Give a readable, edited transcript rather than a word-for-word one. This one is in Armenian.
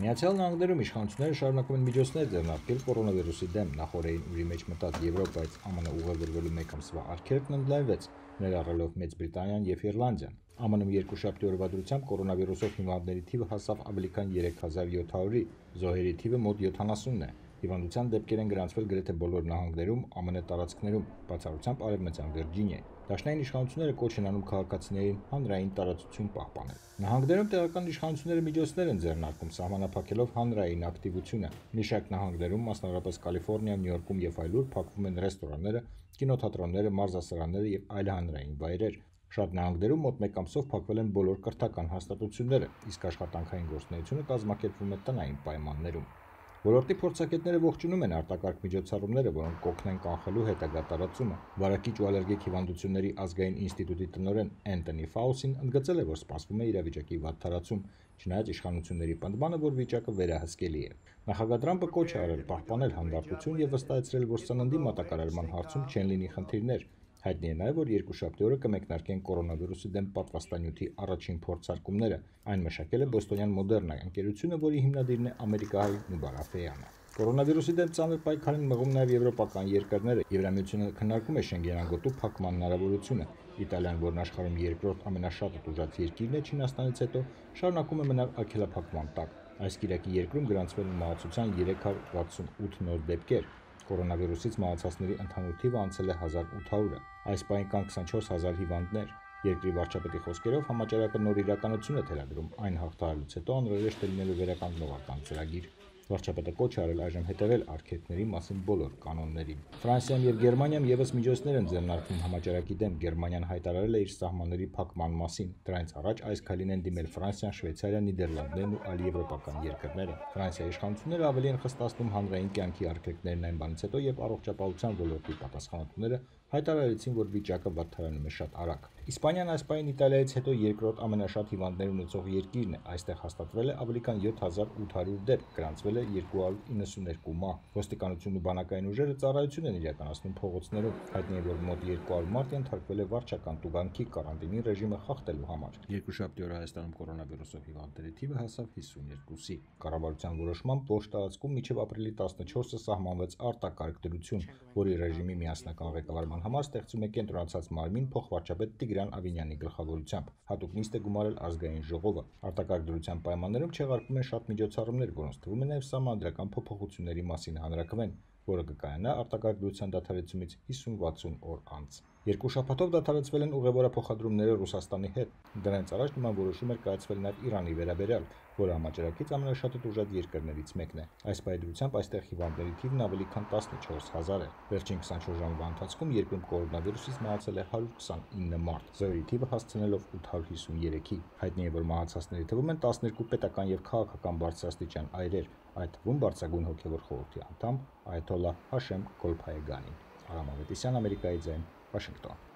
Միացյալ Նահանգներում իշխանությունները շարունակում են միջոցներ ձեռնարկել կորոնավիրուսի դեմ։ Նախորդին ուրի մեջ մտած Եվրոպայից ԱՄՆ ուղևորվելու մեկ ամսվա արգելքն ընդլայնվեց, ներառելով Մեծ Բրիտանիան եւ Իռլանդիան։ ԱՄՆ-ում երկուշաբթի օրվա դրությամբ կորոնավիրուսով հիմնավորների թիվը հասավ ավելի քան 3700-ի, զոհերի թիվը մոտ 70 է։ Հիվանդության դեպքեր են գրանցվել գրեթե բոլոր նահանգներում, ԱՄՆ տարածքներում, բացառությամբ Արևմտյան Վիրջինիայի։ Դաշնային իշխանությունները կոչ են անում քաղաքացիներին հանրային տարածություն պահպանել։ Նահանգներում տեղական իշխանությունները միջոցներ են ձեռնարկում սահմանափակելով հանրային ակտիվությունը։ Մի շարք նահանգներում, մասնավորապես Կալիֆոռնիայում, Նյու Յորքում եւ այլուր, փակվում են ռեստորանները, կինոթատրոնները, մարզասրահները եւ այլ հանրային վայրեր։ Շատ նահանգներում մոտ մեկ ամսով փակվել են բոլոր կրթական հաստատությունները, իսկ աշխատանքային գործունեությունը կազմակերպվում է տնային պայմաններում։ Ոլորտի փորձագետները ողջունում են արտակարգ միջոցառումները, որոնք կօգնեն կանխելու հետագա տարածումը։ Վարակիչ ու ալերգիկ հիվանդությունների ազգային ինստիտուտի տնօրեն Էնթոնի Ֆաուսին ընդգծել է, որ սպասվում է իրավիճակի վատ տարածում, չնայած իշխանությունների պնդմանը, որ վիճակը վերահսկելի է։ Նախագահ Թրամփը կոչ է արել պահպանել հանդարտություն եւ վստահեցրել, որ սննդի մատակարարման հարցում չեն լինի խնդիրներ։ Հայտնի է նաև, որ երկուշաբթի օրը կմեկնարկեն կորոնավիրուսի դեմ պատվաստանյութի առաջին փորձարկումները։ Այն մշակել է բոստոնյան Մոդեռնա ընկերությունը, որի հիմնադիրն է ամերիկահայ Նուբար Աֆեյանը։ Կորոնավիրուսի դեմ ծանր պայքարին մղում նաև եվրոպական երկրները։ Եվրամիությունը քննարկում է Շենգենագոտու փակման հնարավորությունը։ Իտալիան, որն աշխարհում երկրորդ ամենաշատը տուժած երկիրն է Չինաստանից հետո, շարունակում է մնալ արգելափակման տակ։ Այս կիրակի երկրում գրանցվել են մահացության 368 նոր դեպքեր։ Կորոնավիրուսից մահացածների ընդհանուր թիվը անցել է 1800-ը։ Այս պահին կան 24000 հիվանդներ։ Երկրի վարչապետի խոսքերով համաճարակը նոր իրականություն է թելադրում, այն հաղթահարելուց հետո անհրաժեշտ է լինելու վերականգնողական ծրագիր։ Վարչապետը կոչ արել այժմ հետևել արգելքների մասին բոլոր կանոններին։ Ֆրանսիայում եւ Գերմանիայում եւս միջոցներ են ձեռնարկվում համաճարակի դեմ։ Գերմանիան հայտարարել է իր սահմանների փակման մասին։ Դրանից առաջ այս քայլին են դիմել Ֆրանսիան, Շվեյցարիան, Նիդերլանդներն ու այլ եվրոպական երկրները։ Ֆրանսիայի իշխանությունները ավելի են խստացնում հանրային կյանքի արգելքներն այն բանից հետո, երբ առողջապահության ոլորտի պատասխանատուները հայտարարեցին, որ վիճակը վատթարանում է շատ արագ։ Իսպանիան այս պահին Իտալիայից հետո երկրորդ ամենաշատ հիվանդներ ունեցող երկիրն է։ Այստեղ հաստատվել է ավելի քան 7800 դեպք, գրանցվել է 292 մահ։ Ոստիկանությունն ու բանակային ուժերը ծառայություն են իրականացնում փողոցներում։ Հայտնի է, որ մոտ 200 մարդ ենթարկվել է վարչական տուգանքի կարանտինի ռեժիմը խախտելու համար։ Երկուշաբթի օրը Հայաստանում կորոնավիրուսով հիվանդների թիվը հասավ 52-ի։ Կառավարության որոշմամբ ողջ տարածքում մինչև ապրիլի 14-ը սահմանվեց արտակարգ դրություն, որի ռեժիմի միասնական ղեկավարման համար ստեղծում է կենտրոնացած մարմին փոխվարչապետ Տիգրան Ավինյանի գլխավորությամբ։ Հատուկ նիստ է գումարել ազգային ժողովը։ Արտակարգ դրության պայմաններում չեղարկվում են շատ միջոցառումներ, որոնց թվում է նաև սահմանադրական փոփոխությունների մասին հանրաքվեն, որը կկայանա արտակարգ դրության դադարեցումից 50-60 օր անց։ Երկու շաբաթով դադարեցվել են ուղևորափոխադրումները Ռուսաստանի հետ։ Դրանից առաջ նման որոշում էր կայացվել նաև Իրանի վերաբերյալ, որը համաճարակից ամենաշատը տուժած երկրներից մեկն է։ Այս պայմանությամբ այստեղ հիվանդների թիվն ավելի քան 14000 է։ Վերջին 24 ժամվա ընթացքում երկրում կորոնավիրուսից մահացել է 129 մարդ, զոհերի թիվը հասցնելով 853-ի։ Հայտնի է, որ մահացածների թվում են 12 պետական եւ քաղաքական բարձրաստիճան այրեր, այդ թվում բարձրագույն հոգեվոր խորհրդի անդամ Այաթոլլահ Հաշեմ Գոլփայեգանին։ Արամ Ավետիսյան, Ամերիկայի ձայն, Վաշինգտոն։